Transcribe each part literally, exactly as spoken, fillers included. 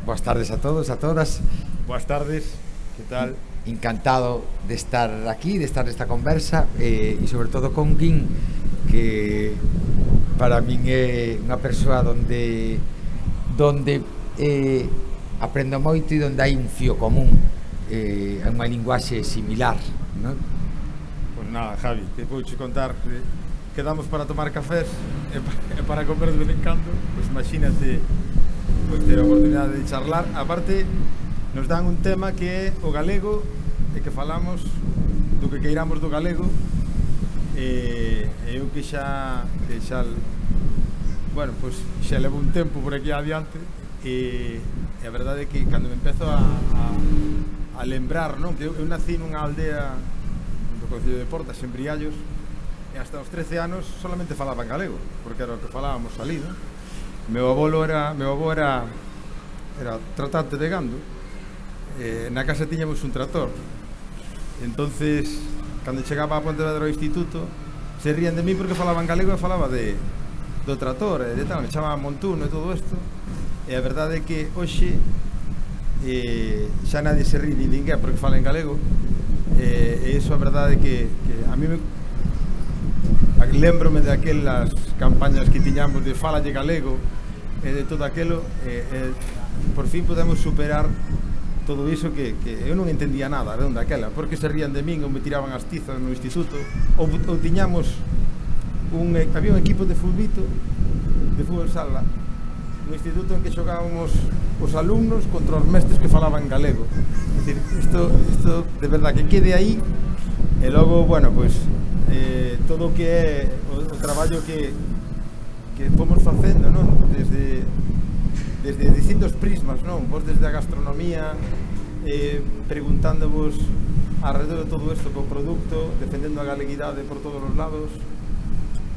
Boas tardes a todos, a todas. Boas tardes, que tal? Encantado de estar aquí, de estar nesta conversa eh, e sobre todo con Guín, que para min é unha persoa donde donde eh, aprendo moito e donde hai un fío común, eh, unha linguaxe similar, non? Pois nada, Javi, que vouche contar que quedamos para tomar cafés e para comer de vez en cando, pois imagínate pois ter a oportunidade de charlar. Aparte, nos dan un tema que é o galego e que falamos do que queiramos do galego e eu que xa que xa bueno, pois xa levo un tempo por aquí adiante e, e a verdade é que cando me empezo a, a, a lembrar, non? Que eu, eu nací nunha aldea do concello de Portas, en Briallos, e hasta os trece anos solamente falaba en galego, porque era o que falábamos ali, non? Meu avolo era, meu avó era era tratante de gando. Eh, na casa tiñamos un trator. Entonces, cando chegaba a Pontevedra ao instituto, se rían de mí porque falaba en galego e falaba de do trator e de tal, me chamaban Montuno e todo isto. E a verdade é que hoxe eh, xa nadie se rí ni ninguén porque fala en galego. Eh, e iso a verdade é que, que a mí me lembrome de aquelas campañas que tiñamos de falalle galego e de todo aquelo e, e por fin podemos superar todo iso que, que eu non entendía nada de onde aquela, porque se rían de min ou me tiraban as tizas no instituto ou, ou tiñamos un, había un equipo de fulbito de fútbol sala no instituto en que xogábamos os alumnos contra os mestres que falaban galego. É dicir, isto, isto de verdad que quede aí e logo, bueno, pois eh, todo o que é o, o traballo que que fomos facendo, non? Desde desde distintos prismas, non? Vos desde a gastronomía eh, preguntándovos alrededor de todo isto co produto, defendendo a galeguidade por todos os lados,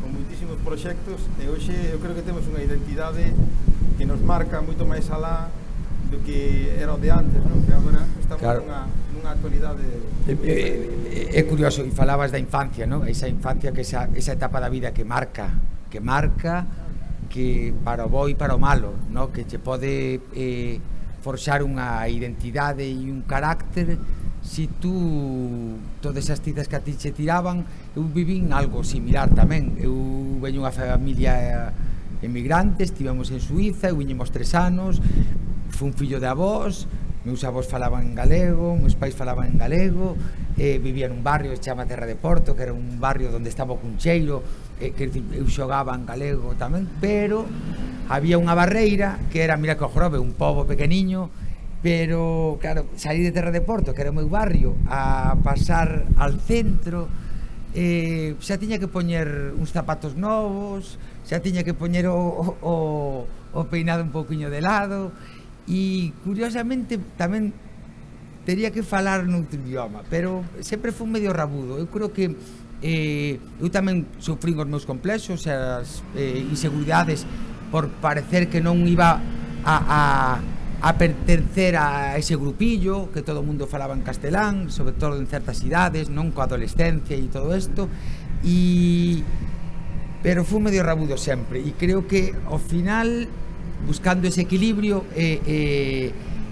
con moitísimos proxectos, e hoxe eu creo que temos unha identidade que nos marca moito máis alá do que era o de antes, non? Que agora estamos claro. nunha, nunha actualidade. É, é, é curioso, e falabas da infancia, non? Esa infancia, que esa, esa etapa da vida que marca, que marca, que para o bo e para o malo, non? Que che pode eh, forxar unha identidade e un carácter. Si tú, todas as tizas que a ti che tiraban, eu vivín algo similar tamén. Eu veño unha familia emigrante, estivemos en Suiza, eu viñemos tres anos, fui un fillo de avós, meus avós falaban en galego, meus pais falaban en galego, eh, vivía nun barrio que se chama Terra de Porto, que era un barrio onde estaba o Cuncheiro, eh, que eu xogaba en galego tamén, pero había unha barreira que era, mira que o Jorobe, un pobo pequeniño, pero, claro, saí de Terra de Porto, que era o meu barrio, a pasar al centro, eh, xa tiña que poñer uns zapatos novos, xa tiña que poñer o, o, o peinado un pouquiño de lado, e curiosamente tamén tería que falar noutro idioma, pero sempre foi medio rabudo. Eu creo que eh, eu tamén sufrín os meus complexos e as eh, inseguridades por parecer que non iba a, a, a pertencer a ese grupillo, que todo o mundo falaba en castelán, sobre todo en certas idades, non coa adolescencia e todo isto, e pero foi medio rabudo sempre, e creo que ao final, buscando ese equilibrio, eh, eh,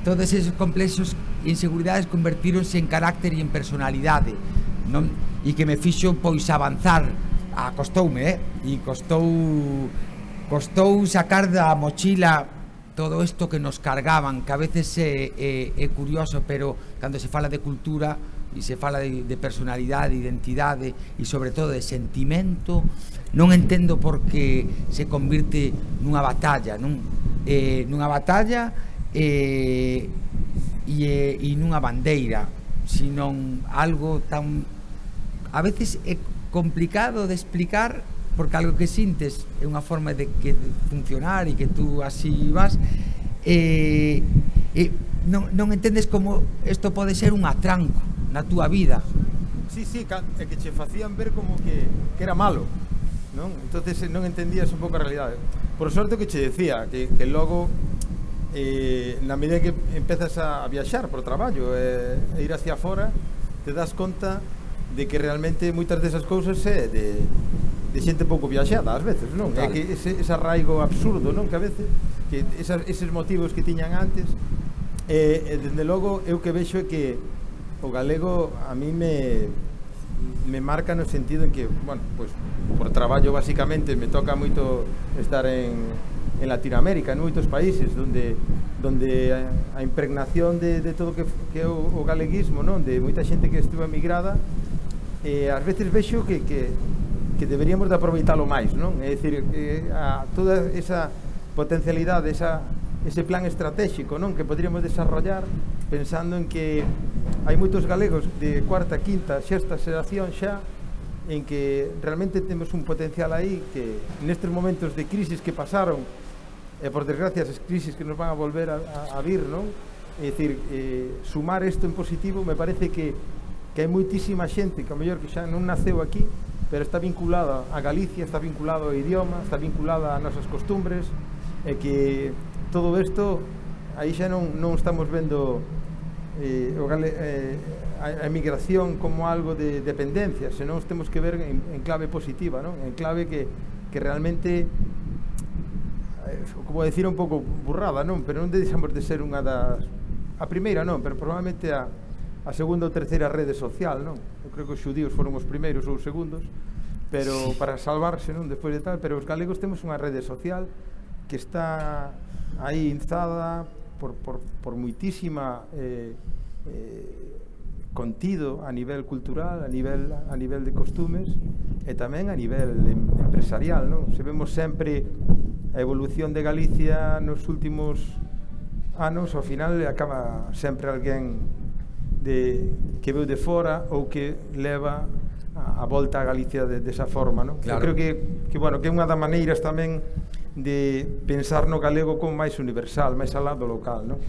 todos esos complexos e inseguridades convertíronse en carácter e en personalidade, non? E que me fixo pois avanzar. Ah, costoume, eh? E costou costou sacar da mochila todo isto que nos cargaban, que a veces é, é, é curioso, pero cando se fala de cultura e se fala de, de personalidade, de identidade e sobre todo de sentimento, non entendo por que se convirte nunha batalla, non? Eh, nunha batalla eh, e, e nunha bandeira, senón algo tan, a veces é complicado de explicar, porque algo que sintes é unha forma de que de funcionar e que tú así vas, e eh, eh, non, non entendes como isto pode ser un atranco na túa vida. Sí, sí, é que che facían ver como que, que era malo, non? Entonces non entendías un pouco a realidade. Por sorte que che decía, que, que logo eh, na medida que empezas a viaxar por traballo e eh, ir hacia fora, te das conta de que realmente moitas desas cousas é de, de xente pouco viaxada ás veces, non? É que ese, ese arraigo absurdo, non? Que a veces que esas, eses motivos que tiñan antes, e, e dende logo eu que vexo é que o galego a mí me me marca no sentido en que, bueno, pues por traballo basicamente me toca moito estar en, en Latinoamérica, en moitos países donde donde a, a impregnación de, de todo que, que é o, o galeguismo, non? De moita xente que estuvo emigrada, e ás veces vexo que, que, que deberíamos de aproveitalo máis, non? É dicir, eh, a toda esa potencialidade, esa, ese plan estratégico, non? Que poderíamos desarrollar pensando en que hai moitos galegos de cuarta, quinta, sexta xeración xa, en que realmente temos un potencial aí que nestes momentos de crisis que pasaron, e por desgracia as crisis que nos van a volver a, a, a vir, non? É dicir, eh, sumar isto en positivo, me parece que, que hai moitísima xente que a mellor que xa non naceu aquí, pero está vinculada a Galicia, está vinculado ao idioma, está vinculada ás nosas costumbres, e que todo isto aí xa non, non estamos vendo eh, o gale, eh, a, a emigración como algo de dependencia, senón temos que ver en, en clave positiva, non? En clave que, que realmente, eh, como decir un pouco burrada, non? Pero non deixamos de ser unha das, a primeira non, pero probablemente a, a segunda ou terceira rede social, non? Eu creo que os xudíos foron os primeiros ou os segundos, pero para salvarse, non? Despois de tal, pero os galegos temos unha rede social que está aí inzada por, por, por moitísima eh, eh, contido a nivel cultural, a nivel, a nivel de costumes, e tamén a nivel em, empresarial, non? Se vemos sempre a evolución de Galicia nos últimos anos, ao final acaba sempre alguén de, que veu de fora ou que leva a, a volta a Galicia de, desa forma, non? Claro. Eu creo que, que, bueno, que é unha das maneiras tamén de pensar no galego como máis universal, máis alá do local, non?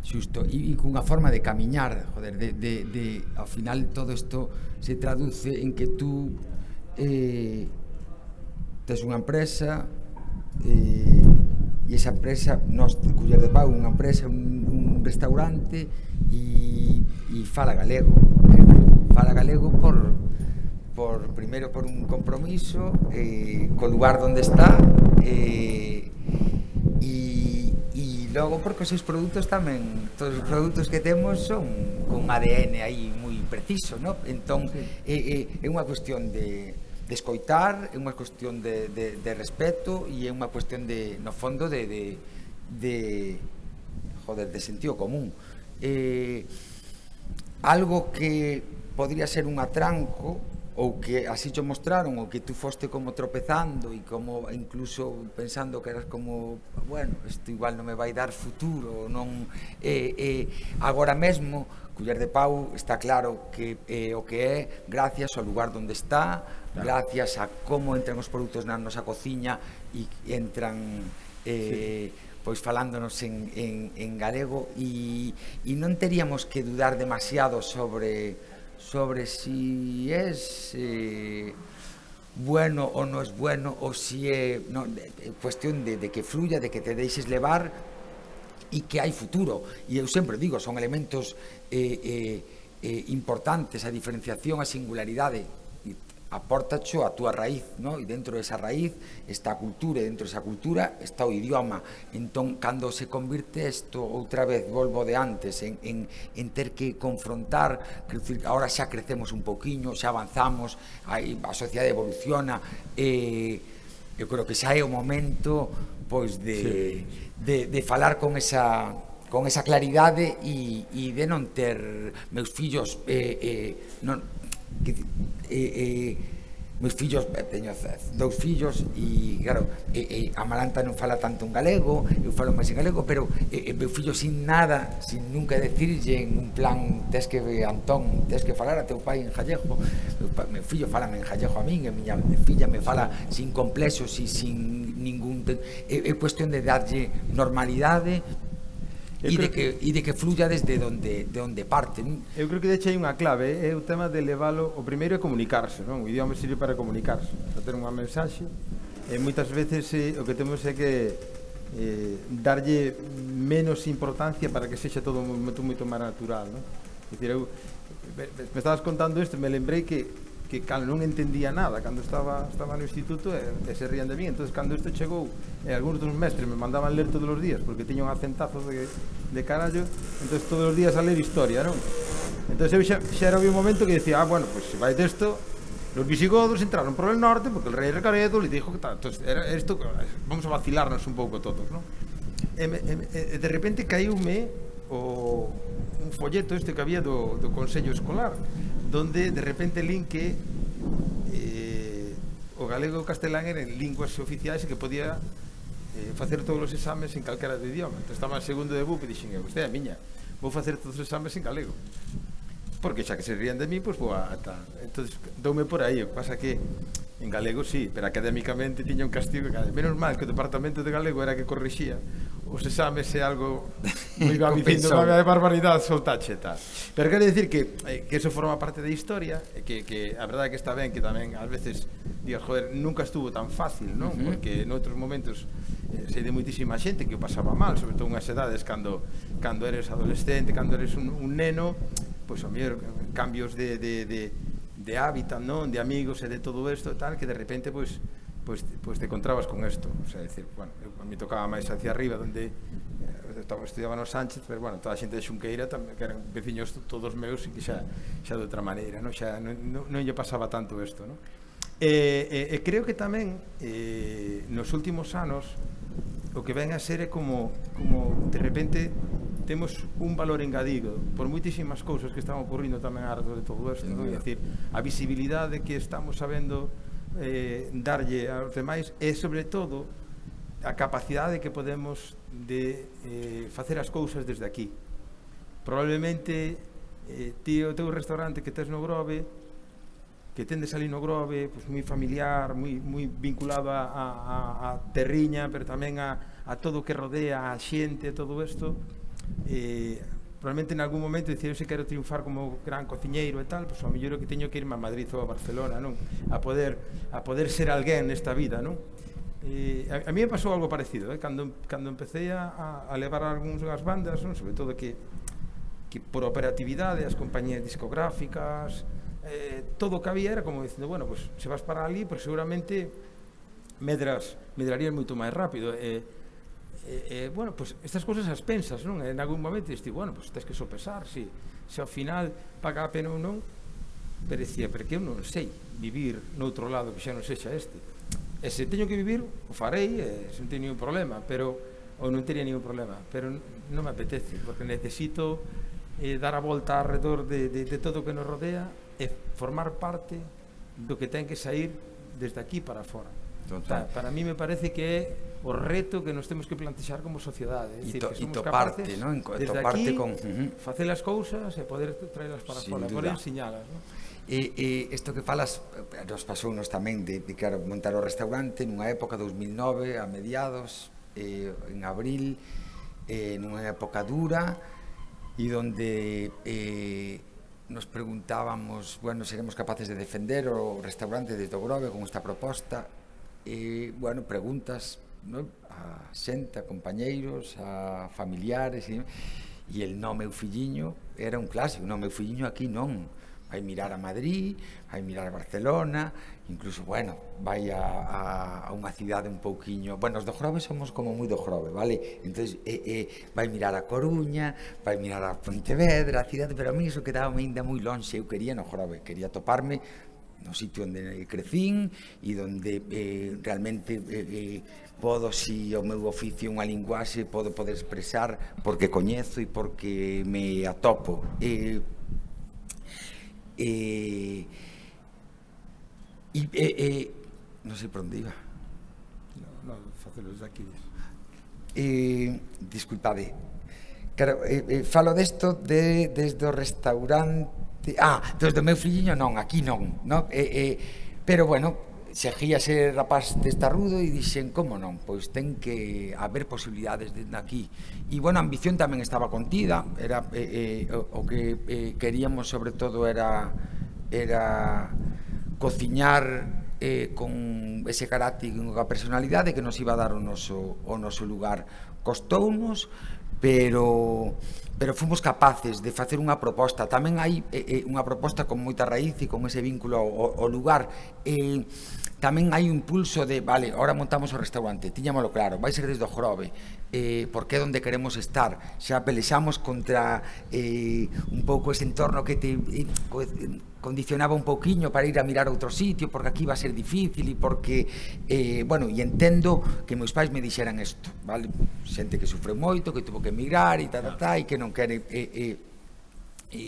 Xusto, e, e cunha forma de camiñar, joder, de, de, de, ao final todo isto se traduce en que tú eh, tes unha empresa eh, e esa empresa, nós, Culler de Pau, unha empresa, un, un restaurante e, e fala galego, fala galego por por primeiro por un compromiso eh, co lugar onde está eh, e, e logo porque os seus produtos tamén, todos os produtos que temos son con A D N aí moi preciso, ¿no? Entón sí. é, é, é unha cuestión de, de escoitar, é unha cuestión de, de, de respeto e é unha cuestión de, no fondo de, de, de joder, de sentido común. Eh, algo que podría ser un atranco ou que así te mostraron, ou que tú foste como tropezando e como incluso pensando que eras como, bueno, isto igual non me vai dar futuro, non eh, eh, agora mesmo Culler de Pau está claro que eh, o que é gracias ao lugar onde está, claro. Gracias a como entran os produtos na nosa cociña e entran eh, sí. Pois falándonos en, en, en galego e, e non teríamos que dudar demasiado sobre sobre si es eh, bueno o no es bueno, o si é no, de, cuestión de, de que fluya, de que te deixes levar e que hai futuro. E eu sempre digo, son elementos eh, eh, eh, importantes, a diferenciación, a singularidade, apórtacho a túa raíz, ¿no? E dentro desa raíz está a cultura, e dentro desa cultura está o idioma. Entón, cando se convirte isto, outra vez, volvo de antes, en, en, en ter que confrontar, que ahora xa crecemos un poquinho, xa avanzamos, a, a sociedade evoluciona, e eu creo que xa é o momento, pois, de, sí. de, de falar con esa... con esa claridade e, e de non ter meus fillos eh, eh, non, que, eh, eh, meus fillos, teño dous fillos e claro, eh, eh, Amaranta non fala tanto en galego, eu falo máis en galego, pero eh, meu fillo sin nada, sin nunca decirlle en un plan, tes que, Antón, tes que falar a teu pai en gallego, meu, meu fillo fala en gallego a min, e miña filla me fala sin complexos e sin ningún, é, é cuestión de darlle normalidade e de que, e de que fluya desde onde, de onde parte. Eu creo que de hecho hai unha clave, é o tema de levalo, o primeiro é comunicarse, non? O idioma sirve para comunicarse, para ter unha mensaxe, e moitas veces eh, o que temos é que eh, darlle menos importancia para que sexa todo moito, moito máis natural, non? É dicir, eu, me estabas contando isto, me lembrei que que cal non entendía nada cando estaba estaba no instituto e, e se rían de mí. Entonces cando isto chegou e algúns dos mestres me mandaban ler todos os días porque tiña un acentazo de, de carallo, entonces todos os días a ler historia, non? Entonces eu xa, xa era un momento que decía, ah, bueno, pues se vai desto, los visigodos entraron por el norte porque el rey Recaredo le dijo que tal. Entonces era esto, vamos a vacilarnos un pouco todos, non? E, e, e de repente caíume o un folleto este que había do, do Consello Escolar, donde de repente lin que eh, o galego e o castelán eran linguas oficiais e que podía eh, facer todos os exames en calquera de idioma. Entón estaba en segundo de B U P e dixen, vostede a miña, vou facer todos os exames en galego, porque xa que se rían de mí, pois vou a tal. Entón doume por aí, o que pasa que en galego sí, pero académicamente tiña un castigo que, menos mal que o departamento de galego era que corrixía os exames e algo moi va dicindo unha barbaridade, soltache e tal. Pero quero dicir que, eh, que eso forma parte da historia, e que, que a verdade que está ben que tamén ás veces digas, joder, nunca estuvo tan fácil, non? Uh-huh. Porque noutros momentos eh, sei de moitísima xente que o pasaba mal, sobre todo unhas edades cando, cando eres adolescente, cando eres un, un neno, pois a mellor cambios de, de, de, de hábitat, non? De amigos e de todo isto e tal, que de repente, pois, Pues, pues te encontrabas con esto, o sea, decir, bueno, a mí tocaba máis hacia arriba, donde eh, estudiaba no Sánchez, pero bueno, toda a xente de Xunqueira tamén, que eran veciños todos meus e que xa, xa de outra maneira, non, xa non, non, non lle pasaba tanto isto, non? E, e, e creo que tamén eh, nos últimos anos o que ven a ser é como, como de repente temos un valor engadido por moitísimas cousas que están ocurrindo tamén a de todo isto, non? É dicir, a visibilidade que estamos sabendo Eh, darlle aos demais e sobre todo a capacidade que podemos de eh, facer as cousas desde aquí. Probablemente eh, ti o teu restaurante que tes no Grove, que tendes ali no Grove, pues, moi familiar, moi, moi vinculado a, a, a terriña, pero tamén a, a todo o que rodea a xente, todo isto, eh, probablemente en algún momento dicir, eu se quero triunfar como gran cociñeiro e tal, pois ao mellor que teño que irme a Madrid ou a Barcelona, non? A poder, a poder ser alguén nesta vida, non? E a, a mí me pasou algo parecido, eh? Cando, cando empecé a, a levar algúns das bandas, non? Sobre todo que, que por operatividade, as compañías discográficas, eh, todo o que había era como dicindo, bueno, pues se vas para ali, pues seguramente medras, medrarías moito máis rápido, e eh, Eh, eh, bueno, pues estas cousas as pensas, non? En algún momento diste, bueno, pues tens que sopesar se, se ao final paga a pena ou non, pero decía, porque eu non sei vivir noutro lado que xa non sexa este, e se teño que vivir o farei, e se non teño ningún problema, pero ou non teria ningún problema, pero non me apetece, porque necesito eh, dar a volta alrededor de, de, de todo o que nos rodea e formar parte do que ten que sair desde aquí para fora. O sea, para mí me parece que é o reto que nos temos que plantexar como sociedade, é dicir, to, que somos toparte, capaces, ¿no? desde toparte aquí, con, uh-huh. facer as cousas e poder traelas para Sin fora, duda. poder ensiñalas, ¿no? E, e isto que falas nos pasounos tamén de, de claro, montar o restaurante nunha época dos mil nove a mediados, eh, en abril, eh, nunha época dura e donde eh, nos preguntábamos, bueno, seremos capaces de defender o restaurante desde o Grove con esta proposta. E, bueno, preguntas, ¿no? A xente, a compañeiros, a familiares, e, e el no meu filliño era un clásico, no meu filliño aquí non, vai mirar a Madrid, vai mirar a Barcelona, incluso, bueno, vai a, a, a unha cidade un pouquiño, bueno, os do Grove somos como moi do Grove, vale? Entón, eh, eh, vai mirar a Coruña, vai mirar a Pontevedra, a cidade, pero a mí iso quedaba ainda moi lonxe, eu quería no Grove, quería toparme no sitio onde crecín e onde eh, realmente eh, eh, podo, si o meu oficio é unha linguaxe, podo poder expresar porque coñezo e porque me atopo. E, e, e, e non sei por onde iba. No, no, facelo desde aquí. Eh, disculpade. Claro, eh, eh, falo desto de, desde o restaurante. Ah, desde o meu filliño non, aquí non, non? Eh, eh, pero bueno, seguía ser rapaz testarudo e dixen, como non? Pois ten que haber posibilidades desde aquí. E bueno, a ambición tamén estaba contida, era eh, eh, o, o que eh, queríamos sobre todo era era cociñar eh, con ese carácter, con a personalidade que nos iba a dar o noso, o noso lugar. Costounos, pero pero fomos capaces de facer unha proposta. Tamén hai eh, unha proposta con moita raíz e con ese vínculo ao, ao lugar. Eh, tamén hai un impulso de, vale, ahora montamos o restaurante, tiñámoslo claro, vai ser desde o Jorobe, eh, porque é onde queremos estar. Xa pelexamos contra eh, un pouco ese entorno que te eh, condicionaba un pouquiño para ir a mirar outro sitio, porque aquí va a ser difícil e porque, eh, bueno, e entendo que meus pais me dixeran isto, vale, xente que sufre moito, que tuvo que emigrar e tal, tal, tal, e que non quere e, e, e,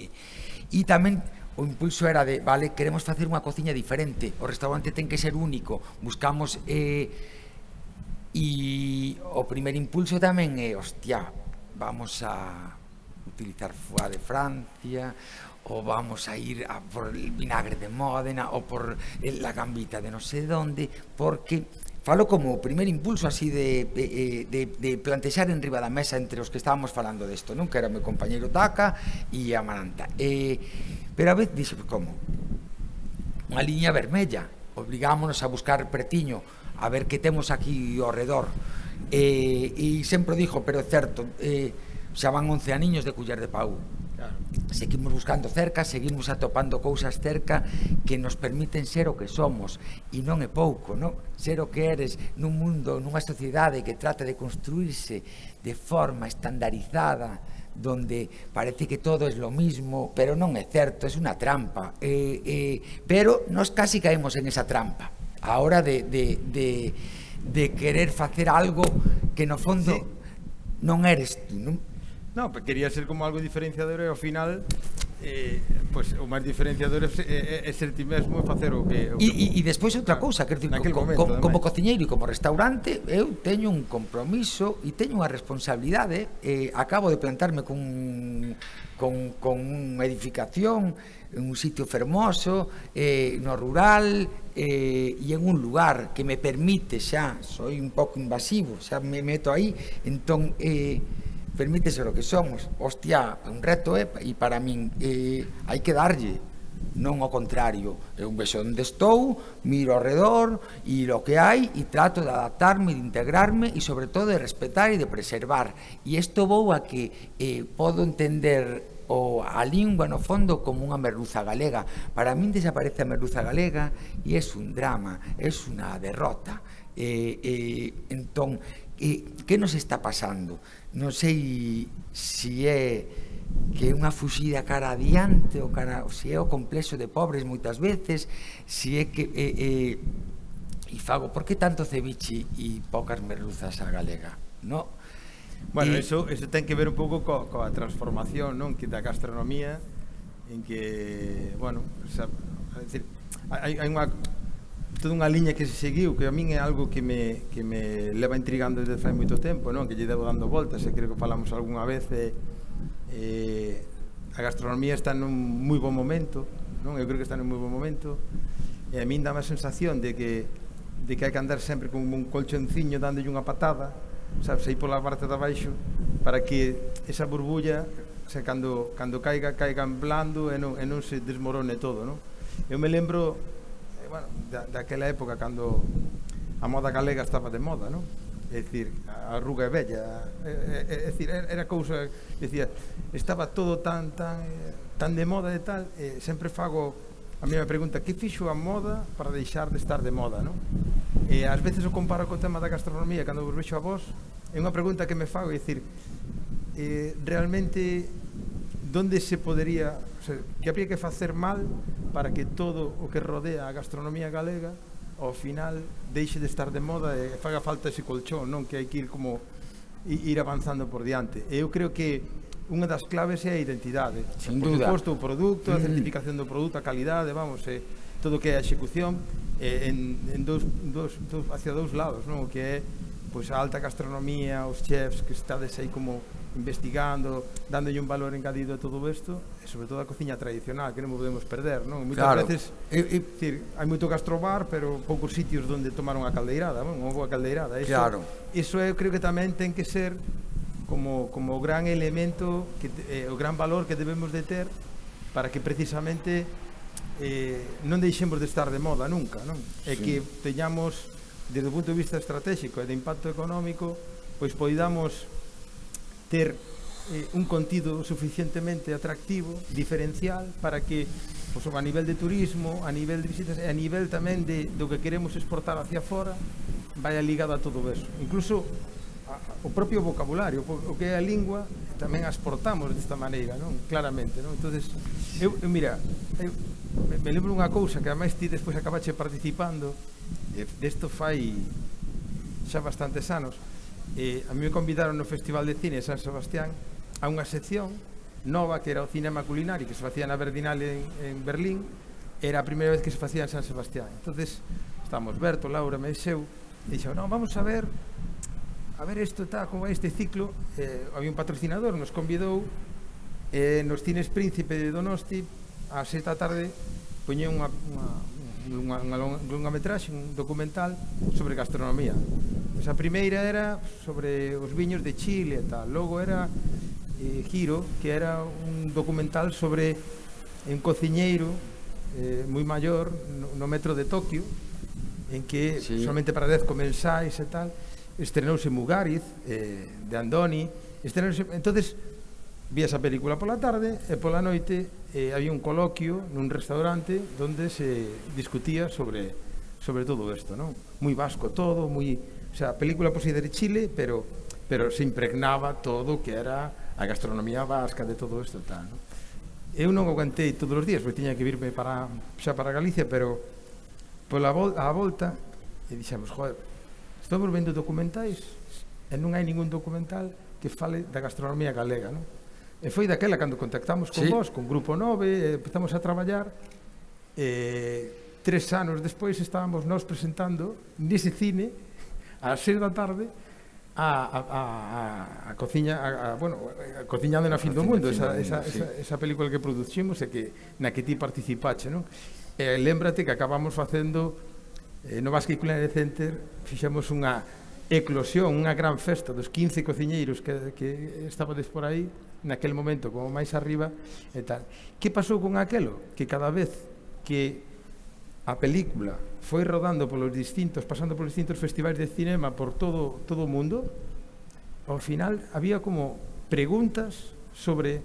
e tamén o impulso era de, vale, queremos facer unha cociña diferente, o restaurante ten que ser único, buscamos eh, e o primer impulso tamén é, hostia, vamos a utilizar foie de Francia, o vamos a ir a por el vinagre de Módena, o por la gambita de non sei onde, porque falo como o primer impulso así de, de, de, de plantexar en riba da mesa entre os que estábamos falando desto, non? Que era o meu compañeiro Taca e a Maranta. Eh, pero a vez dixe, como? Unha liña vermella, obligámonos a buscar pretiño, a ver que temos aquí ao redor. Eh, e sempre dixo, pero é certo, eh, xa van once aniños de Culler de Pau. Claro. Seguimos buscando cerca, seguimos atopando cousas cerca que nos permiten ser o que somos, e non é pouco, non? Ser o que eres nun mundo, nunha sociedade que trata de construirse de forma estandarizada, donde parece que todo es lo mismo, pero non é certo, é unha trampa, eh, eh, pero nos casi caemos en esa trampa a hora de, de, de, de querer facer algo que no fondo sí. non eres tú, non? No, quería ser como algo diferenciador e ao final eh, pues, o máis diferenciador é, é, é ser ti mesmo e facer o que... O e, e, e despois outra cousa, que decir, co, momento, co, como cociñeiro e como restaurante, eu teño un compromiso e teño unha responsabilidade, eh, acabo de plantarme con, con, con unha edificación, en un sitio fermoso, eh, no rural, eh, e en un lugar que me permite xa, soy un pouco invasivo, xa me meto aí, entón... Eh, permite ser o que somos, hostia, un reto é, e para min eh, hai que darlle, non ao contrario, eu vexo onde estou, miro ao redor, e lo que hai, e trato de adaptarme, de integrarme, e sobre todo de respetar e de preservar, e isto vou a que eh, podo entender o a lingua no fondo como unha merluza galega. Para min desaparece a merluza galega e é un drama, é unha derrota. Eh, eh, entón, eh, que nos está pasando? Non sei se é que é unha fuxida cara adiante ou cara, se é o complexo de pobres moitas veces, se é que eh, eh, e fago, por que tanto ceviche e poucas merluzas a galega, non? Bueno, e... eso, eso ten que ver un pouco co, coa transformación, non? Que da gastronomía, en que, bueno, xa, é dicir, hai, hai unha toda unha liña que se seguiu, que a min é algo que me, que me leva intrigando desde fai moito tempo, non? Que lle devo dando voltas, e creo que falamos algunha vez, e, e a gastronomía está nun moi bon momento, non? Eu creo que está nun moi bon momento, e a min dá a sensación de que, de que hai que andar sempre con un colchonciño dándolle unha patada, sabes, aí pola parte de abaixo, para que esa burbulla, o sea, cando, cando caiga, caiga en blando e non, e non se desmorone todo, non? Eu me lembro, bueno, da, daquela época cando a moda galega estaba de moda, non? É dicir, a arruga é bella, é, é, é dicir, era cousa, decía, estaba todo tan tan tan de moda e tal, e sempre fago, a mí me pregunta, que fixo a moda para deixar de estar de moda, non? E ás veces o comparo co tema da gastronomía, cando vos vexo a vos, é unha pregunta que me fago, é dicir, eh, realmente, donde se podería, o sea, que habría que facer mal para que todo o que rodea a gastronomía galega ao final deixe de estar de moda e faga falta ese colchón, non? Que hai que ir como ir avanzando por diante. E eu creo que unha das claves é a identidade. Sin por duda. suposto, o produto, a certificación do produto, a calidade, vamos, e todo o que é a execución eh, en, en dos, dos, dos, hacia dous lados, non? O que é pois, a alta gastronomía, os chefs que estades aí como investigando, dándolle un valor engadido a todo isto, e sobre todo a cociña tradicional, que non podemos perder, non? Moitas claro. veces, é dicir, hai moito gastrobar, pero poucos sitios onde tomar unha caldeirada, non? Unha boa caldeirada. Iso, claro. Iso eu creo que tamén ten que ser como, como o gran elemento, que, eh, o gran valor que debemos de ter para que precisamente eh, non deixemos de estar de moda nunca, non? E sí. Que teñamos, desde o punto de vista estratégico e de impacto económico, pois poidamos ter eh, un contido suficientemente atractivo, diferencial, para que pues, a nivel de turismo, a nivel de visitas e a nivel tamén de, do que queremos exportar hacia fora vaya ligado a todo eso. Incluso a, o propio vocabulario, o que é a lingua, tamén a exportamos desta maneira, non? Claramente, non? Entonces, eu, eu mira, eu me lembro unha cousa que ademais ti despois acabache participando, e desto fai xa bastantes anos. Eh, a mí me convidaron no Festival de Cine de San Sebastián a unha sección nova que era o cinema culinario que se facía na Berlinale en, en Berlín. Era a primeira vez que se facía en San Sebastián. Entonces estábamos Berto, Laura, Meixeu, e dixo, no, vamos a ver a ver isto está como este ciclo. Eh, había un patrocinador, nos convidou eh, nos Cines Príncipe de Donosti a sete da tarde poñía unha, unha, unha, unha longametraxe, un documental sobre gastronomía. Pues a primeira era sobre os viños de Chile e tal. Logo era eh, Giro, que era un documental sobre un cociñeiro eh, moi maior no, no metro de Tokio, en que sí, solamente para dez comensais e tal, estrenouse Mugariz eh, de Andoni, estrenouse, entonces vi esa película pola tarde e pola noite eh, había un coloquio nun restaurante donde se discutía sobre sobre todo isto, non? Moi vasco todo, moi, o sea, a película por si de Chile, pero pero se impregnaba todo que era a gastronomía vasca de todo isto tal, non? Eu non aguantei todos os días, porque tiña que virme para xa para Galicia, pero pola vol a volta e dixemos, joder, estamos vendo documentais e non hai ningún documental que fale da gastronomía galega, non? E foi daquela cando contactamos con sí, vos, con Grupo nove, empezamos a traballar, e tres anos despois estábamos nós presentando nese cine ás seis da tarde a, a, a, a cociña, a, a, bueno, a cociñando na fin do mundo, esa, esa, sí, esa, esa película que producimos e que na que ti participache, non? E lembrate que acabamos facendo eh, no Basque Culinary Center, fixemos unha eclosión, unha gran festa dos quince cociñeiros que, que estabades por aí naquel momento, como máis arriba e tal. Que pasou con aquelo? Que cada vez que a película foi rodando polos distintos, pasando polos distintos festivais de cinema por todo todo o mundo, ao final había como preguntas sobre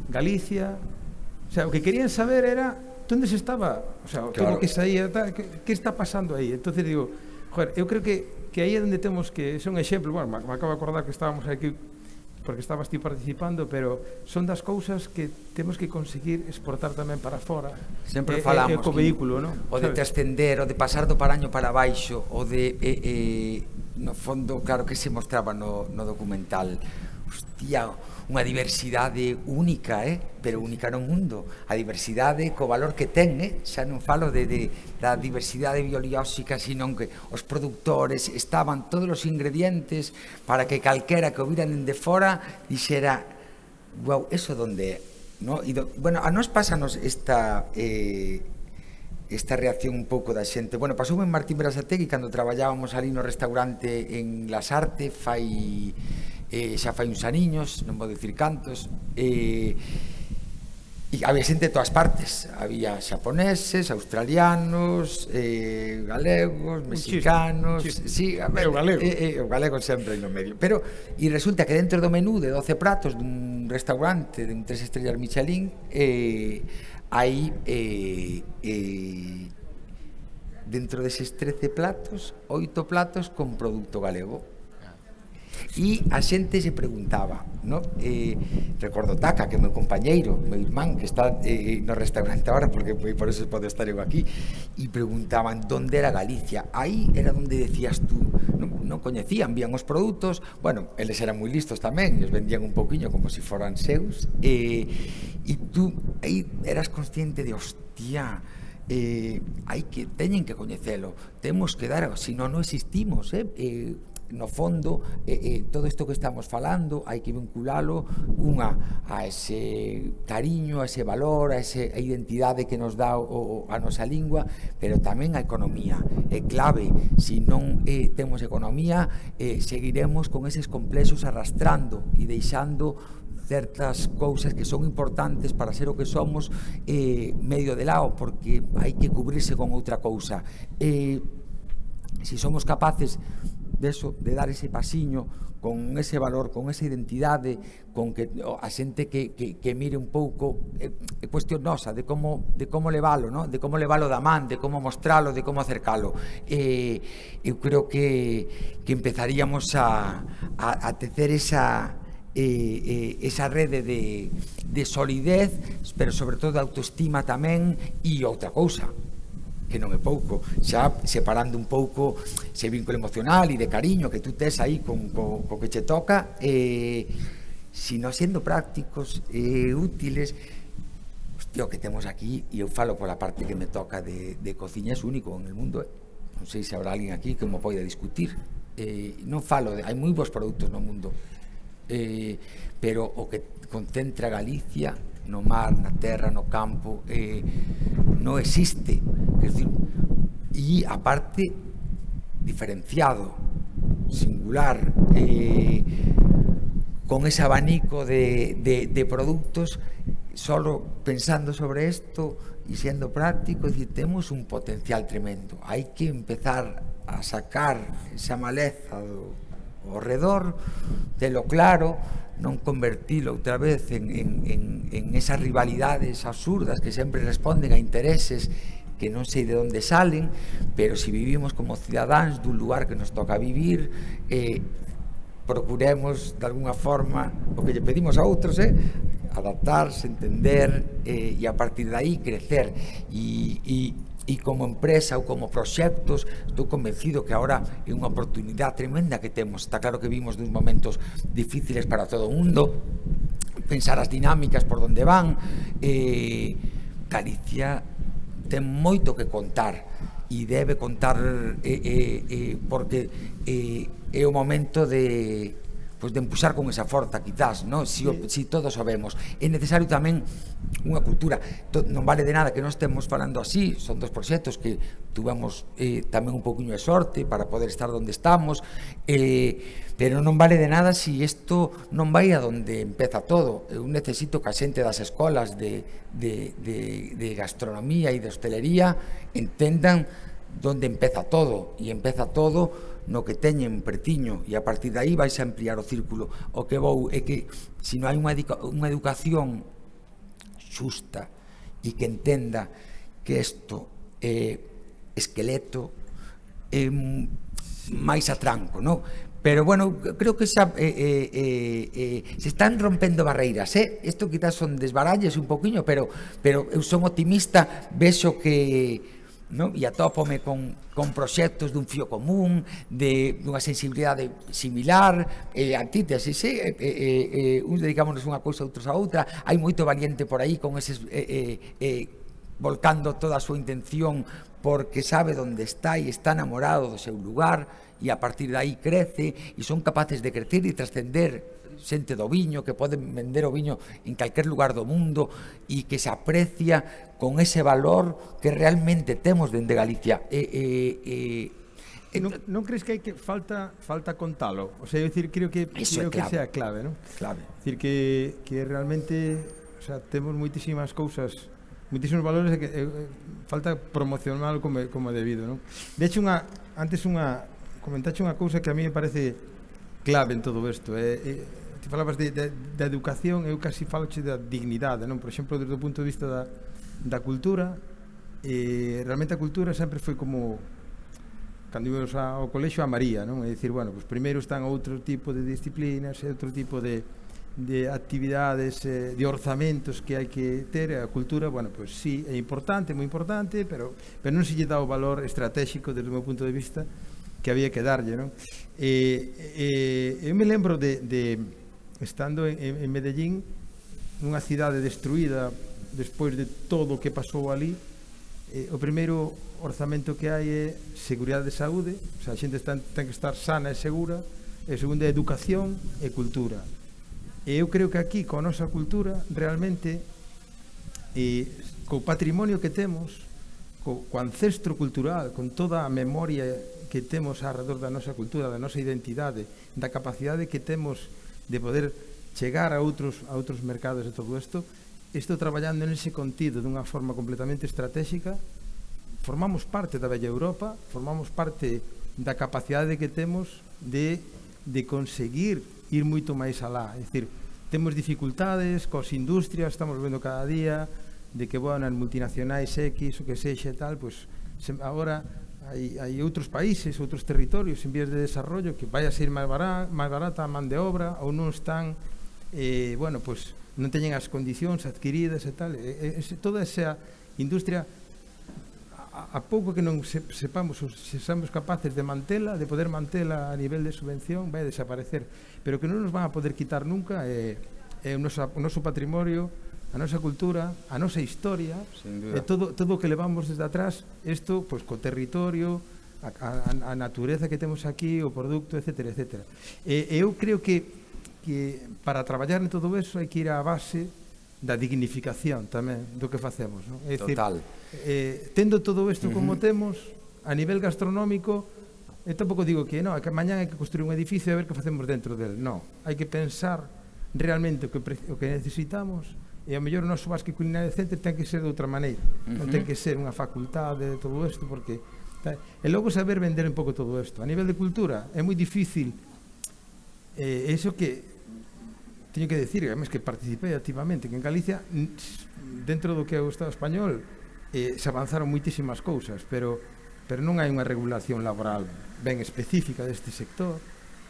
Galicia, o sea, o que querían saber era onde se estaba, o sea, claro, todo o que saía, que, que está pasando aí. Entonces digo, joder, eu creo que, que aí é onde temos que, son exemplos, bueno, me, me acabo de acordar que estábamos aquí porque estabas ti participando, pero son das cousas que temos que conseguir exportar tamén para fora. Sempre e, falamos e, e co vehículo, non? O de trascender, o de pasar do paraño para baixo, o de e, e, no fondo, claro que se mostraba no, no documental, hostia, unha diversidade única, eh? Pero única no mundo. A diversidade co valor que ten, eh? Xa non falo de, de, da diversidade biolóxica, sino que os produtores estaban todos os ingredientes para que calquera que o viran de fora dixera, wow, eso donde é, no? E do, bueno, a nos pásanos esta eh, esta reacción un pouco da xente. Bueno, pasou en Martín Berasategui cando traballábamos ali no restaurante en Las Artes, fai eh, xa fai uns aniños, non vou dicir cantos, e, e había xente de todas partes, había xaponeses, australianos, eh, galegos, mexicanos, chiste, chiste. Sí, a ver, o galego, eh, eh, o galego sempre no medio, pero e resulta que dentro do menú de doce pratos dun restaurante de un tres estrellas Michelin, eh, hai eh, eh, dentro deses trece platos, oito platos con produto galego. E a xente se preguntaba, no? eh, recordo Taca, que é meu compañeiro, meu irmán, que está eh, no restaurante agora, porque por eso pode estar eu aquí, e preguntaban onde era Galicia. Aí era onde decías tú, non, non coñecían, vían os produtos, bueno, eles eran moi listos tamén, e os vendían un poquinho como se si foran seus, e, e tú aí eras consciente de, hostia, eh, hai que, teñen que coñecelo, temos que dar, se non, non existimos, eh, eh no fondo, eh, eh, todo isto que estamos falando hai que vinculalo unha a ese cariño, a ese valor, a esa identidade que nos dá o, o, a nosa lingua, pero tamén a economía é clave. Se non eh, temos economía, eh, seguiremos con eses complexos arrastrando e deixando certas cousas que son importantes para ser o que somos eh, medio de lado, porque hai que cubrirse con outra cousa. Eh, se somos capaces de eso, de dar ese pasiño con ese valor, con esa identidade, con que a xente que, que, que mire un pouco é, é cuestión nosa de como, de como levalo, ¿no? De como levalo da man, de como mostralo, de como acercalo. Eh, eu creo que, que empezaríamos a, a, a tecer esa, eh, eh, esa rede de, de solidez, pero sobre todo de autoestima tamén, e outra cousa, que non é pouco, xa separando un pouco ese vínculo emocional e de cariño que tú tes aí con, co, co que che toca, eh, sino sendo prácticos e eh, útiles. Hostia, o que temos aquí, e eu falo pola parte que me toca de, de cociña, é único en el mundo. Non sei se habrá alguén aquí que mo poida discutir. Eh, non falo, de, hai moi bons produtos no mundo, eh, pero o que concentra Galicia no mar, na terra, no campo, eh, non existe. Quer dizer, e aparte diferenciado, singular, eh, con ese abanico de, de, de productos, solo pensando sobre esto e sendo práctico, decir, temos un potencial tremendo. Hai que empezar a sacar esa maleza do ao redor, telo claro, non convertilo outra vez en, en, en, en esas rivalidades absurdas que sempre responden a intereses que non sei de onde salen, pero se vivimos como cidadáns dun lugar que nos toca vivir, eh, procuremos de alguna forma o que lle pedimos a outros, eh, adaptarse, entender, eh, e a partir de aí crecer. E, e e como empresa ou como proxectos estou convencido que agora é unha oportunidade tremenda que temos. Está claro que vimos duns momentos difíciles para todo o mundo, pensar as dinámicas por onde van. eh, Galicia ten moito que contar e debe contar, eh, eh, eh, porque eh, é o momento de pues de empuxar con esa forza, quizás, ¿no? Si, sí. si todos sabemos. É necesario tamén unha cultura. Non vale de nada que non estemos falando así, son dos proxectos que tuvemos eh, tamén un pouquinho de sorte para poder estar onde estamos, eh, pero non vale de nada si isto non vai a donde empeza todo. Eu necesito que a xente das escolas de, de, de, de gastronomía e de hostelería entendan donde empeza todo, e empeza todo no que teñen pretiño, e a partir de aí vais a ampliar o círculo. O que vou é que se non hai unha, unha educación xusta e que entenda que isto é esqueleto, é máis atranco, non? Pero, bueno, creo que xa, eh, eh, eh, se están rompendo barreiras, eh? Isto quizás son desbaralles un poquinho, pero, pero eu son optimista, vexo que no? E atópome con, con proxectos dun fío común, de dunha sensibilidade similar, eh, antítesis, eh, eh, eh, uns dedicámonos unha cousa, outros a outra. Hai moito valiente por aí con eses eh, eh, eh, volcando toda a súa intención porque sabe onde está e está enamorado do seu lugar, e a partir de aí crece e son capaces de crecer e trascender. Xente do viño que poden vender o viño en calquer lugar do mundo e que se aprecia con ese valor que realmente temos dende Galicia. Eh, eh, eh, non, non crees que hai que falta falta contalo? O sea, eu decir, creo que creo que sea clave, ¿no? Clave. Decir que que realmente, o sea, temos moitísimas cousas, moitísimos valores que eh, falta promocionar como como debido, ¿no? De hecho, unha antes unha comentache unha cousa que a mí me parece clave en todo isto, é eh, eh, ti falabas de, de, de educación, eu casi faloche da dignidade, non? Por exemplo, desde o punto de vista da, da cultura, eh, realmente a cultura sempre foi como cando íbamos ao colexio a María, non? É dicir, bueno, pues primeiro están outro tipo de disciplinas e outro tipo de, de actividades, eh, de orzamentos que hai que ter. A cultura, bueno, pues sí, é importante, moi importante, pero, pero non se lle dá o valor estratégico desde o meu punto de vista que había que darlle, non? E, e, eu me lembro de, de estando en, en Medellín, nunha cidade destruída despois de todo o que pasou ali, eh, o primeiro orzamento que hai é seguridade de saúde, o sea, a xente está, ten que estar sana e segura, e o segundo é educación e cultura. E eu creo que aquí, coa nosa cultura, realmente, e co patrimonio que temos, co, co ancestro cultural, con toda a memoria que temos alrededor da nosa cultura, da nosa identidade, da capacidade que temos de poder chegar a outros a outros mercados e todo isto, estou traballando nese contido dunha forma completamente estratégica. Formamos parte da bella Europa, formamos parte da capacidade que temos de, de conseguir ir moito máis alá. É dicir, temos dificultades coas industrias, estamos vendo cada día de que, bueno, as multinacionais X, o que sexa e tal, pois agora hai, hai outros países, outros territorios en vías de desarrollo que vai a ser máis barata, máis barata a man de obra, ou non están, eh, bueno, pois non teñen as condicións adquiridas e tal. E, e, toda esa industria, a, a pouco que non se, sepamos, se somos capaces de mantela, de poder mantela a nivel de subvención, vai a desaparecer. Pero que non nos van a poder quitar nunca é, é o, noso, o noso patrimonio, a nosa cultura, a nosa historia, e todo, todo o que levamos desde atrás, isto, pois, co territorio, a, a, a natureza que temos aquí, o produto, etcétera, etcétera. E, e eu creo que que para traballar en todo eso hai que ir á base da dignificación tamén do que facemos, non? É dicir, Total. Eh, tendo todo isto como uh-huh. temos, a nivel gastronómico, eu tampouco digo que, no, que mañán hai que construir un edificio e ver que facemos dentro del. Non, hai que pensar realmente o que, o que necesitamos, e ao mellor o noso basque culinario centro ten que ser de outra maneira, uh-huh. non ten que ser unha facultade de todo isto, porque tá, e logo saber vender un pouco todo isto. A nivel de cultura é moi difícil, eh, eso que teño que decir, además que participei activamente, que en Galicia, dentro do que é o Estado español, eh, se avanzaron moitísimas cousas, pero, pero non hai unha regulación laboral ben específica deste sector,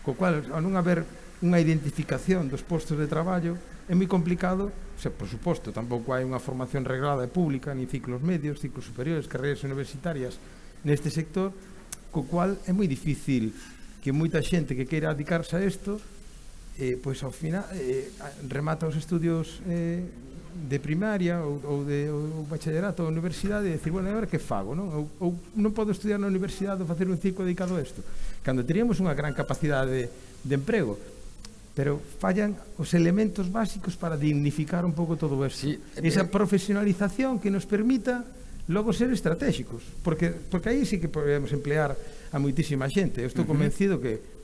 co cual, ao non haber unha identificación dos postos de traballo, é moi complicado. O sea, por suposto, tampouco hai unha formación reglada e pública, ni ciclos medios, ciclos superiores, carreiras universitarias neste sector, co cual é moi difícil que moita xente que queira dedicarse a isto, eh, pois ao final eh, remata os estudios eh, de primaria ou, ou de ou bachillerato ou universidade e decir, bueno, agora que fago, non? Ou, ou non podo estudiar na universidade ou facer un ciclo dedicado a isto, cando teríamos unha gran capacidade de, de emprego, pero fallan os elementos básicos para dignificar un pouco todo isto. Sí, esa profesionalización que nos permita logo ser estratégicos, porque, porque aí sí que podemos emplear a moitísima xente. Eu estou convencido que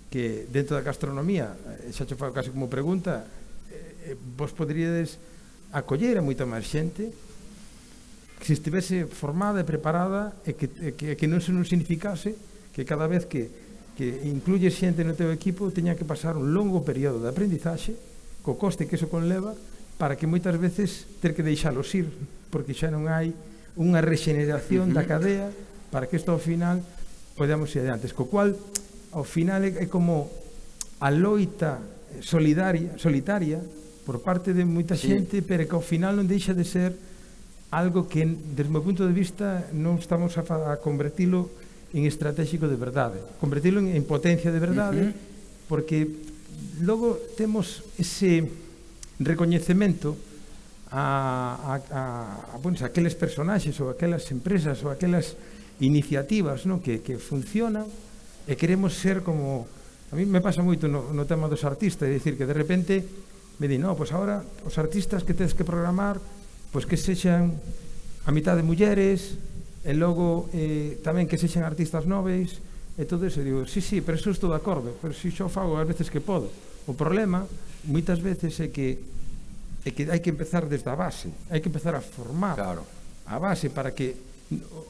que dentro da gastronomía, xa che fago casi como pregunta, eh, vos poderíades acoller a moita máis xente que se estivese formada e preparada e que, e que, que non se non significase que cada vez que, que incluye xente no teu equipo teña que pasar un longo período de aprendizaxe co coste que eso conleva, para que moitas veces ter que deixalos ir porque xa non hai unha regeneración uh-huh. da cadea para que isto ao final podamos ir adiante, co cual ao final é como a loita solidaria, solitaria por parte de moita xente, sí. pero que ao final non deixa de ser algo que, desde o meu punto de vista, non estamos a, a convertilo en estratégico de verdade, convertilo en, en potencia de verdade, uh-huh. porque logo temos ese recoñecemento a, a, a, a, bueno, a aqueles personaxes ou aquelas empresas ou aquelas iniciativas, no, que, que funcionan, e queremos ser como... A mí me pasa moito no, no tema dos artistas, é dicir, que de repente me di, no, pois agora os artistas que tedes que programar, pois que sexan a mitad de mulleres, e logo eh, tamén que sexan artistas noves, e todo eso. E digo, sí, sí, pero eso estou de acordo, pero si xo fago as veces que podo. O problema, moitas veces, é que é que hai que empezar desde a base, hai que empezar a formar claro. a base para que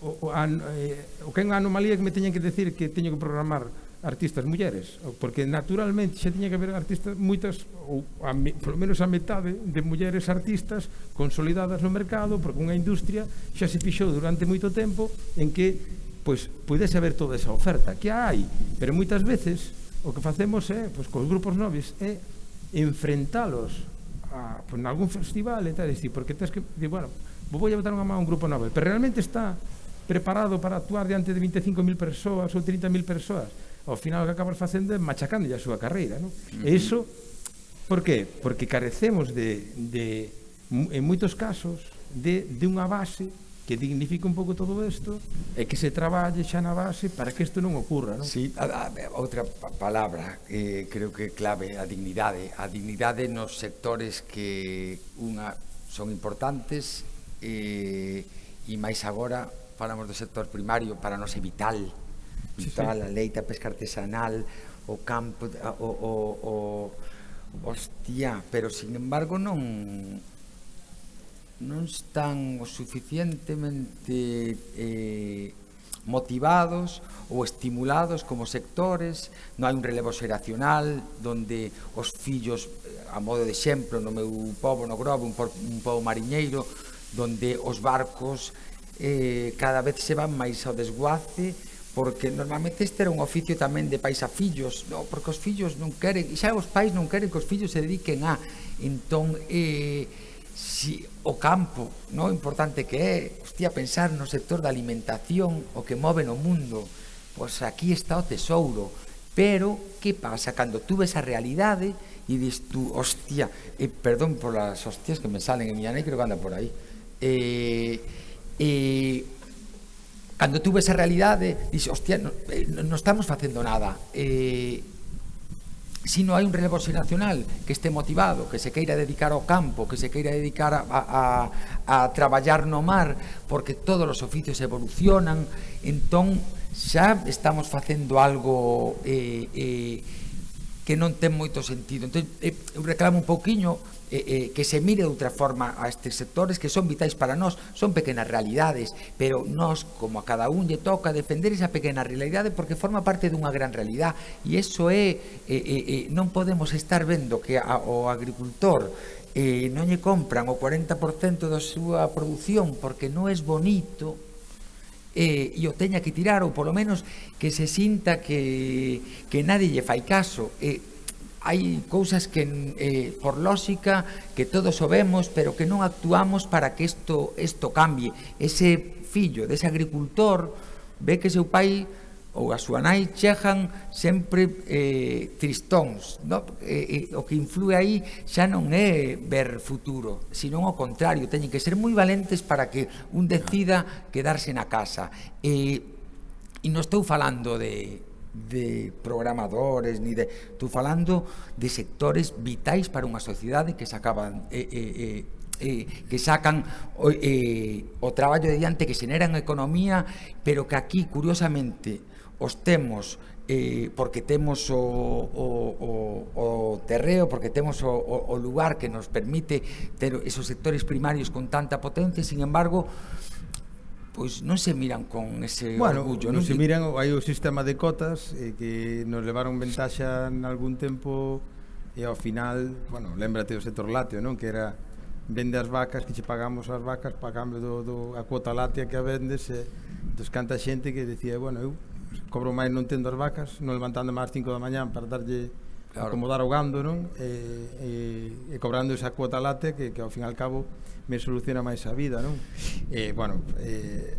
o, o, a, eh, o que é unha anomalía que me teñen que decir que teño que programar artistas mulleres, porque naturalmente xa tiña que haber artistas moitas, ou a, polo menos a metade de mulleres artistas consolidadas no mercado, porque unha industria xa se fixou durante moito tempo en que pois pudese haber toda esa oferta que hai, pero moitas veces o que facemos é, pois cos grupos noves, é enfrentalos a, pois, en algún festival e tal, decir, porque tens que, bueno, vou a botar unha mão a un grupo novo, pero realmente está preparado para actuar diante de vinte e cinco mil persoas ou trinta mil persoas. Ao final o que acabas facendo é machacando a súa carreira, non? Uh-huh. E iso, por qué? Porque carecemos de, de en moitos casos, de, de unha base que dignifique un pouco todo isto e que se traballe xa na base para que isto non ocurra, non? Sí, a, a, outra palabra eh, creo que clave, a dignidade. A dignidade nos sectores que unha son importantes e, e máis agora falamos do sector primario, para nós é vital vital, sí, sí. A leite, a pesca artesanal, o campo, o, o, o, hostia, pero sin embargo non non están o suficientemente eh, motivados ou estimulados como sectores, non hai un relevo xeracional donde os fillos, a modo de exemplo, no meu pobo, no Grove, un, un pobo mariñeiro, donde os barcos eh, cada vez se van máis ao desguace, porque normalmente este era un oficio tamén de pais a fillos, no, porque os fillos non queren, e xa os pais non queren que os fillos se dediquen a, entón, eh, si o campo, no, importante que é, hostia, pensar no sector da alimentación, o que move no mundo, pois aquí está o tesouro, pero que pasa cando tú ves a realidade e dis tú, hostia, eh, perdón por las hostias que me salen en miña nai, creo que anda por aí, eh, eh, cando tú ves a realidade, dis, hostia, non no estamos facendo nada, eh, si non hai un relevo xeracional que este motivado, que se queira dedicar ao campo, que se queira dedicar a, a, a traballar no mar, porque todos os oficios evolucionan, entón xa estamos facendo algo eh, eh, que non ten moito sentido. Entón, eh, eu reclamo un pouquiño eh, eh, que se mire de outra forma a estes sectores que son vitais para nós, son pequenas realidades, pero nós, como a cada un lle toca defender esa pequena realidade porque forma parte dunha gran realidade, e iso é, eh, eh, eh, non podemos estar vendo que a, o agricultor eh, non lle compran o cuarenta por cento da súa produción porque non é bonito, Eh, e o teña que tirar, ou polo menos que se sinta que, que nadie lle fai caso. Eh, hai cousas que, eh, por lógica, que todos o vemos, pero que non actuamos para que isto, isto cambie. Ese fillo dese agricultor ve que seu pai ou a súa nai chegan sempre eh, tristóns, no? eh, eh, o que influe aí xa non é ver futuro, sino ao contrario, teñen que ser moi valentes para que un decida quedarse na casa. E, e non estou falando de, de programadores, ni de, estou falando de sectores vitais para unha sociedade que se acaban... Eh, eh, eh, Eh, que sacan eh, o traballo de diante, que xeneran economía, pero que aquí, curiosamente, os temos eh, porque temos o, o, o, o terreo, porque temos o, o, o lugar que nos permite ter esos sectores primarios con tanta potencia, sin embargo, pois non se miran con ese bueno, orgullo. Non se miran, hai o sistema de cotas eh, que nos levaron ventaxa en algún tempo, e ao final, bueno, lémbrate do sector lácteo, non? Que era vende as vacas, que che pagamos as vacas para cambio do, do a cuota láctea que a vendes, e entón canta xente que decía, bueno, eu cobro máis non tendo as vacas, non levantando máis cinco da mañán para darlle, claro, acomodar o gando, non? E, e, e cobrando esa cuota láctea que, que ao fin e al cabo me soluciona máis a vida, non? E, bueno, eh,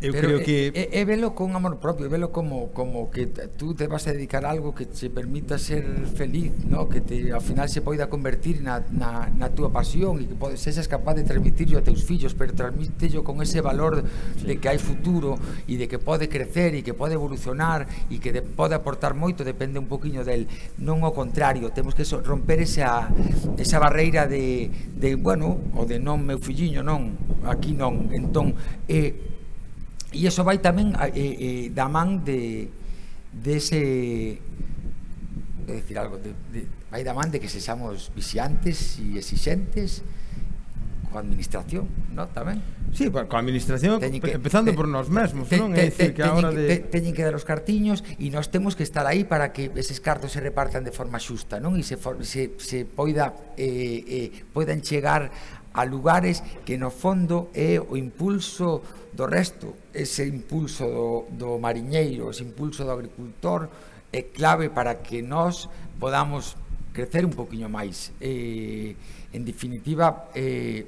eu pero creo que... É, é, é velo con amor propio, é velo como, como que tú te vas a dedicar a algo que te permita ser feliz, ¿no? Que te, ao final se poida convertir na, na, na túa pasión, e que podes, seas capaz de transmitirlo a teus fillos, pero transmítelo con ese valor de que hai futuro e de que pode crecer e que pode evolucionar e que de, pode aportar moito, depende un poquinho del, non ao contrario, temos que so, romper esa, esa barreira de, de, bueno, o de non, meu filliño, non, aquí non, entón, eh, e iso vai tamén eh, eh, da man de, de ese, é dicir algo, de, de, vai da man de que sexamos vixiantes e exixentes coa administración, non? Tamén. Sí, coa administración, que, empezando te, por nós mesmos, te, non? É dicir que a hora de... Te, teñen que dar os cartiños e nós temos que estar aí para que eses cartos se repartan de forma xusta, non? E se, se, se poida, eh, eh, poidan chegar a lugares que no fondo é o impulso do resto, ese impulso do, do mariñeiro, ese impulso do agricultor é clave para que nós podamos crecer un poquinho máis. Eh, en definitiva, eh,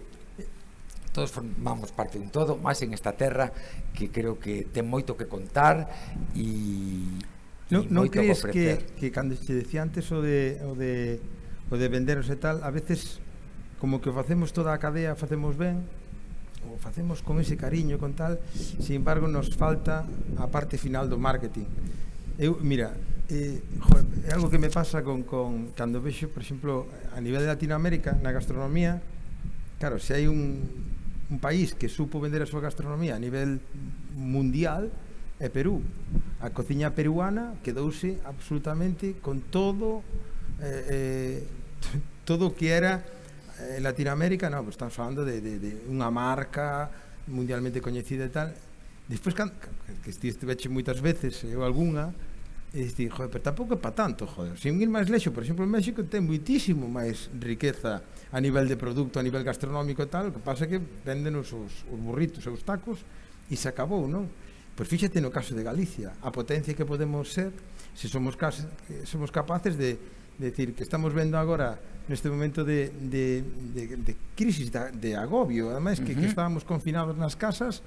todos formamos parte dun todo, máis en esta terra que creo que ten moito que contar e, non, e non moito que ofrecer. Que, que cando te decía antes o de, o de, o de venderos e tal, a veces como que facemos toda a cadea, facemos ben, o facemos con ese cariño, con tal, sin embargo nos falta a parte final do marketing. Eu, mira, eh, joder, é algo que me pasa con, con cando vexo, por exemplo, a nivel de Latinoamérica, na gastronomía, claro, se hai un, un país que supo vender a súa gastronomía a nivel mundial, é Perú. A cociña peruana quedouse absolutamente con todo eh, eh, todo o que era en Latinoamérica, no, pues estamos falando de, de, de unha marca mundialmente coñecida e tal, despois, que estiveche moitas veces, eu algunha, e dixi, joder, pero tampouco é para tanto, joder. Sin ir máis lexo, por exemplo, en México ten moitísimo máis riqueza a nivel de produto, a nivel gastronómico e tal, o que pasa é que venden os, os burritos e os tacos e se acabou, non? Pois fíxate no caso de Galicia, a potencia que podemos ser se somos, somos capaces de, de decir que estamos vendo agora neste momento de, de, de, de crisis, de, de agobio, ademais que, uh-huh. que estábamos confinados nas casas,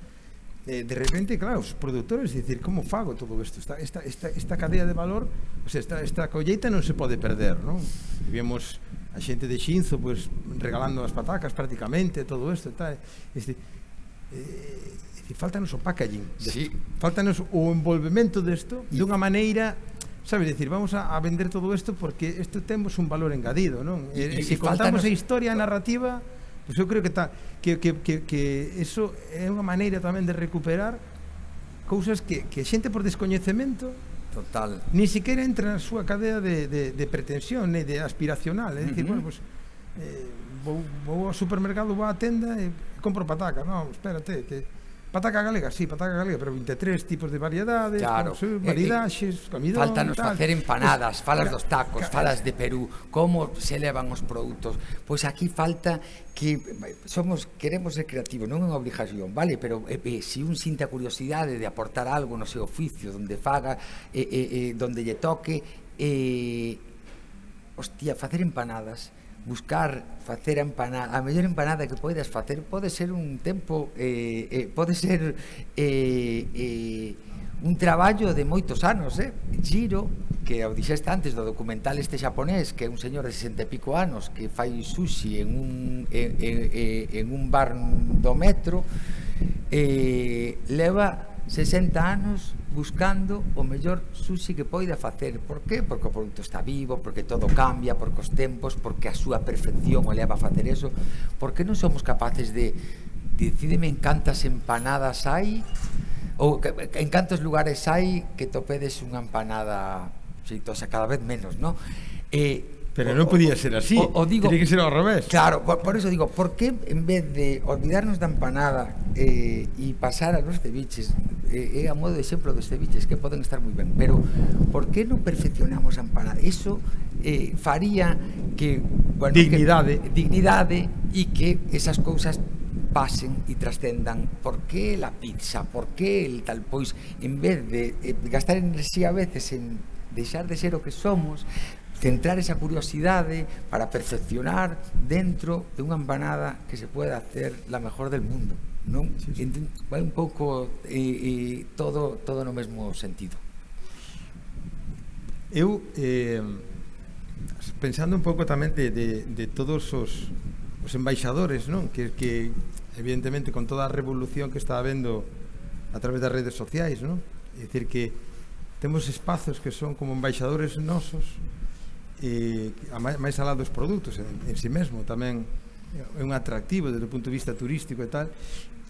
eh, de repente, claro, os produtores dicir, como fago todo isto? Esta, esta, esta, esta cadea de valor, o sea, esta, esta colleita non se pode perder, non? Vimos a xente de Xinzo pues, regalando as patacas prácticamente, todo isto e tal. Este, eh, faltanos o packaging, sí. faltanos o envolvemento desto de unha maneira, sabes, decir, vamos a, a vender todo isto porque isto temos un valor engadido, non? E, e, e se contamos a historia, a narrativa, pues eu creo que, ta, que, que, que, que eso é unha maneira tamén de recuperar cousas que, que xente por descoñecemento total ni siquiera entra na súa cadea de, de, de pretensión, ne de aspiracional, é dicir, uh-huh. bueno, pues eh, vou, vou ao supermercado, vou á tenda e compro pataca, non, espérate, que pataca galega, sí, pataca galega, pero vinte e tres tipos de variedades, claro. con varidaxes, comidón, faltanos tal. facer empanadas, pues, falas ca, dos tacos, ca, falas de Perú, como se levan os produtos. Pois aquí falta que somos queremos ser creativos, non é unha obligación, vale, pero eh, eh, se un sinta curiosidade de aportar algo no seu oficio, donde faga, eh, eh, eh, donde lle toque, eh, hostia, facer empanadas, buscar facer a empanada, a mellor empanada que poidas facer pode ser un tempo eh, eh, pode ser eh, eh, un traballo de moitos anos, eh? Giro, que o dixeste antes do documental este xaponés, que é un señor de sesenta e pico anos que fai sushi en un en, en, en un bar do metro, eh, leva sesenta anos buscando o mellor sushi que poida facer. Por qué? Porque o produto está vivo, porque todo cambia, porque os tempos, porque a súa perfección o leva a facer eso. Por que non somos capaces de decídeme en cantas empanadas hai ou en cantos lugares hai que topedes unha empanada xeitosa, cada vez menos, non? Eh, Pero non podía ser así, o, o digo, tiene que ser ao revés. Claro, por, por eso digo, por que en vez de olvidarnos da empanada eh, e pasar a los ceviches, é eh, a modo de exemplo dos ceviches que poden estar moi ben, pero por que non perfeccionamos a empanada? Eso eh, faría que, bueno, dignidade, que, dignidade e que esas cousas pasen e trascendan. Por que la pizza? Por que el tal? Pois, en vez de eh, gastar enerxía a veces en deixar de ser o que somos, centrar esa curiosidade para perfeccionar dentro de unha empanada que se pueda hacer la mejor del mundo, non? Sí, sí. Vai un pouco eh, eh, todo todo no mesmo sentido. Eu eh, pensando un pouco tamén de, de, de todos os, os embaixadores, non? Que, que evidentemente con toda a revolución que está habendo a través das redes sociais, non? É dicir que temos espazos que son como embaixadores nosos, e máis alá dos produtos en, en si mesmo tamén é un atractivo desde o punto de vista turístico e tal,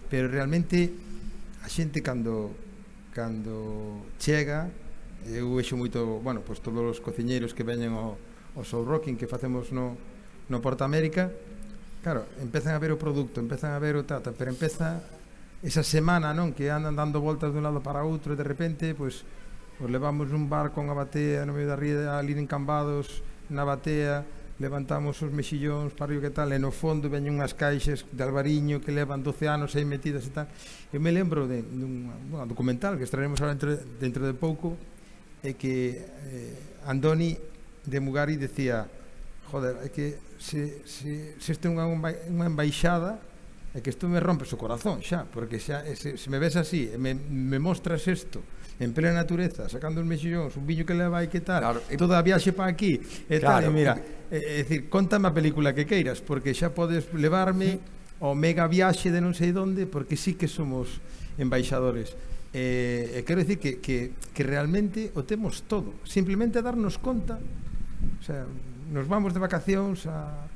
pero realmente a xente cando cando chega, eu vexo moito, bueno, pois todos os cociñeiros que veñen ao, ao Soul Rocking que facemos no, no Porta América, claro, empezan a ver o produto, empezan a ver o tata, pero empeza esa semana, non, que andan dando voltas de un lado para outro e de repente, pois os levamos un barco a unha batea no medio da ría, ali encambados na batea, levantamos os mexillóns para o que tal, e no fondo veñen unhas caixas de albariño que levan doce anos aí metidas e tal. Eu me lembro de, de un bueno, documental que estaremos ahora dentro, dentro de pouco, e que eh, Andoni de Mugari decía, joder, é que se, se, se isto é unha, unha embaixada, é que isto me rompes o corazón xa, porque xa, se, se me ves así e me, me mostras isto en plena natureza, sacando os mexillóns, un viño que leva e que tal, claro, toda a viaxe para aquí e claro, tal, e mira, é, é dicir, contame a película que queiras, porque xa podes levarme ao mega viaxe de non sei donde, porque sí que somos embaixadores. E, e quero dicir que, que, que realmente o temos todo, simplemente darnos conta, o sea, nos vamos de vacacións a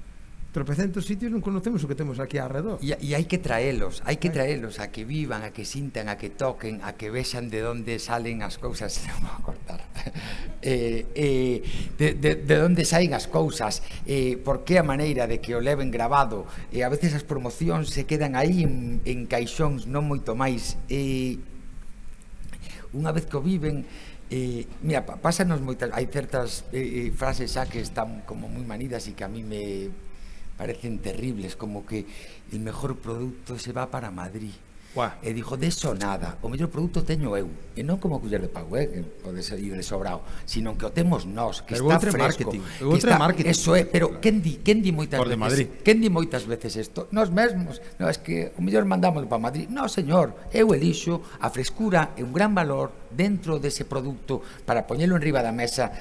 tropecentos sitios, non conocemos o que temos aquí alrededor. E, e hai que traelos, hai que traelos a que vivan, a que sintan, a que toquen, a que vexan de onde salen as cousas. Non vou a cortar. Eh, eh, de, de, de onde saen as cousas, eh, por que a maneira de que o leven grabado, e eh, a veces as promocións se quedan aí en, en caixóns non moito máis. Eh, unha vez que o viven, eh, mira, pásanos moitas, hai certas eh, frases xa que están como moi manidas e que a mí me parecen terribles, como que el mejor produto se va para Madrid. Uah. E dixo, de eso nada, o mellor produto teño eu, e non como culler de pau, eh, que pode ser de sobrado, sino que o temos nós, que pero está que fresco, que está, marketing. Eso é, pero quen di, quen di moitas por de veces, Madrid. quen di moitas veces isto? Nós mesmos, no, es que o mellor mandámoslo para Madrid. No, señor, eu elixo, a frescura é un gran valor dentro dese produto para poñelo en riba da mesa.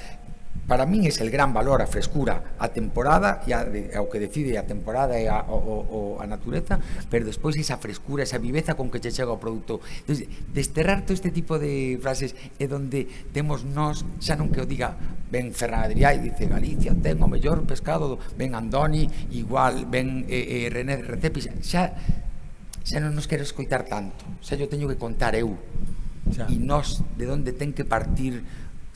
Para min é el gran valor, a frescura, a temporada e a, de, ao que decide a temporada e a, o, o, a natureza, pero despois esa frescura, esa viveza con que che chega o produto. Entonces, desterrar todo este tipo de frases é donde temos nós, xa non que o diga ben Ferran Adrià e dice Galicia ten o mellor pescado, ben Andoni igual, ben eh, eh, René Recepis, xa xa non nos quero escoitar tanto, xa yo teño que contar eu xa. E nós de onde ten que partir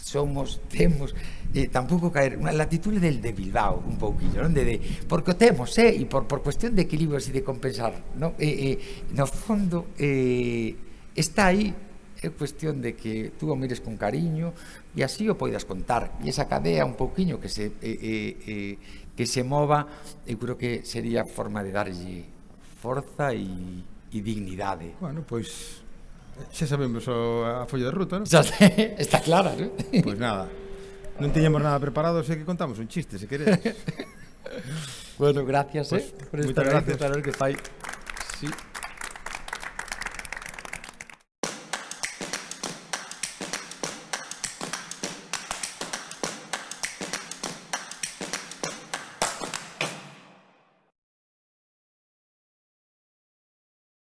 somos, temos, eh, tampouco caer unha latitud del de Bilbao un pouquillo, non? De, de, porque o temos, eh, e por, por cuestión de equilibrios e de compensar, non? Eh, eh, no fondo eh, está aí, é cuestión de que tú o mires con cariño e así o poidas contar, e esa cadea un pouquiño que se eh, eh, eh, que se mova, eu creo que sería forma de darlle forza e, e dignidade. Bueno, pois xa sabemos o, a folla de ruta, non? Xa sei, está clara, non? Pois nada, non tiñamos nada preparado, sei que contamos un chiste, se queredes. Bueno, gracias, pues, eh, por esta esta gracias. vez, claro que fai. Sí.